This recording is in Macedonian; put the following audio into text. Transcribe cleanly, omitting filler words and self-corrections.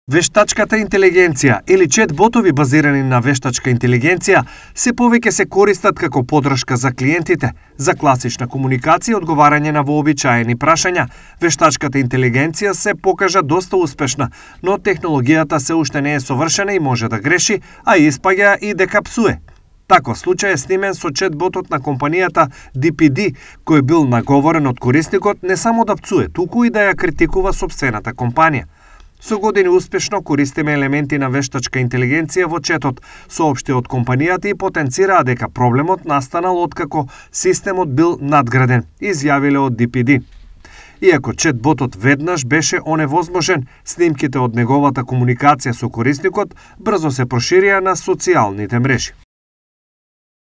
Вештачката интелигенција или чет-ботови базирани на вештачка интелигенција се повеќе се користат како поддршка за клиентите, за класична комуникација и одговарање на вообичаени прашања. Вештачката интелигенција се покажа доста успешна, но технологијата се уште не е совршена и може да греши, а испаѓа и дека псуе. Таков случај е снимен со чет-ботот на компанијата DPD, кој бил наговорен од корисникот не само да пцуе, туку и да ја критикува сопствената компанија. Со години успешно користиме елементи на вештачка интелигенција во четот, соопшти од компанијата и потенцираа дека проблемот настанал откако системот бил надграден, изјавиле од DPD. Иако чет-ботот веднаш беше оневозможен, снимките од неговата комуникација со корисникот брзо се проширија на социјалните мрежи.